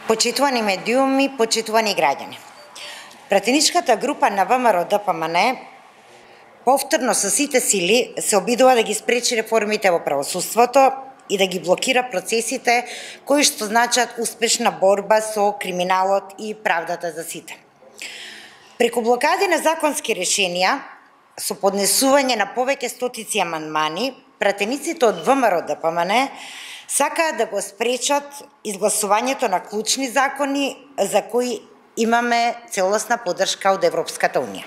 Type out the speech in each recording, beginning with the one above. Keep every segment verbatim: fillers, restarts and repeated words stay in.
Почитувани медиуми, почитувани граѓани. Пратеничката група на ВМРО Д П М Н повторно со сите сили се обидува да ги спречи реформите во правосудството и да ги блокира процесите кои што значат успешна борба со криминалот и правдата за сите. Преку блокади на законски решенија, со поднесување на повеќе стотици амандмани, пратениците од ВМРО Д П М Н сакаат да го спречат изгласувањето на клучни закони за кои имаме целосна поддршка од Европската Унија.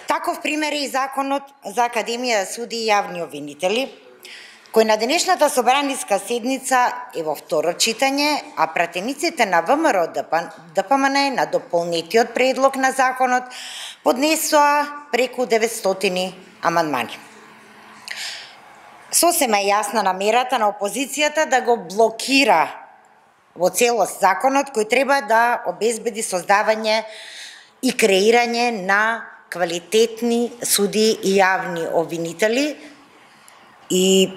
Таков пример е и законот за Академија за суди и јавни обвинители, кој на денешната собраниска седница е во второ читање, а пратениците на ВМРО Д П М Н на дополнетиот предлог на законот поднесоа преку деветстотини амандмани. Сосема е јасна намерата на опозицијата да го блокира во целост законот кој треба да обезбеди создавање и креирање на квалитетни суди и јавни обвинители. И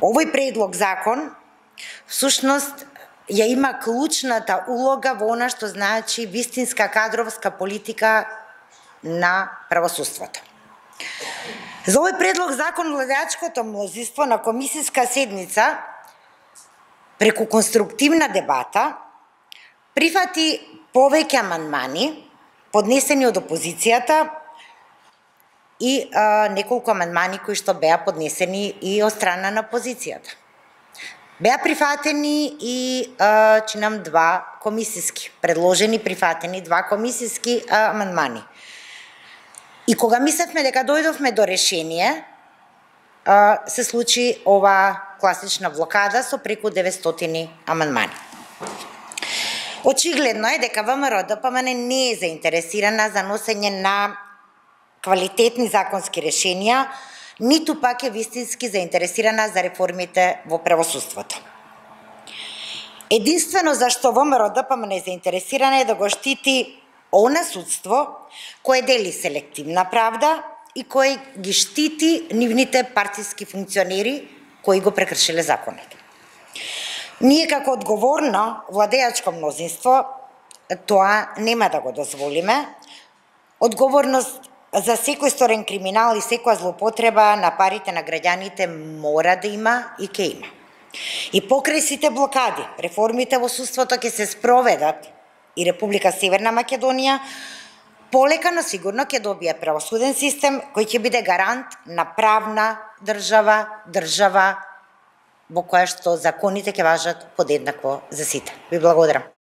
овој предлог закон всушност ја има клучната улога во она што значи вистинска кадровска политика на правосудството. За овој предлог закон владеачкото мнозинство на комисиска седница преку конструктивна дебата прифати повеќе амандмани поднесени од опозицијата и а, неколку амандмани кои што беа поднесени и од страна на опозицијата. Беа прифатени и а, чинам два комисиски, предложени прифатени два комисиски а, амандмани. И кога мислевме дека дојдовме до решение, а, се случи ова класична блокада со преку деветстотини амандмани. Очигледно е дека ВМРО Д П М Н не е заинтересирана за носење на квалитетни законски решенија, ниту пак е вистински заинтересирана за реформите во правосудството. Единствено зашто ВМРО Д П М Н е заинтересирана е да го штити она судство кое дели селективна правда и кој ги штити нивните партиски функционери кои го прекршиле законот. Ние како одговорно владеачко мнозинство тоа нема да го дозволиме. Одговорност за секој сторен криминал и секоја злоупотреба на парите на граѓаните мора да има и ќе има. И покрај сите блокади, реформите во судството ќе се спроведат и Република Северна Македонија полека, но сигурно ќе добие правосуден систем кој ќе биде гарант на правна држава, држава во која што законите ќе важат подеднакво за сите. Ви благодарам.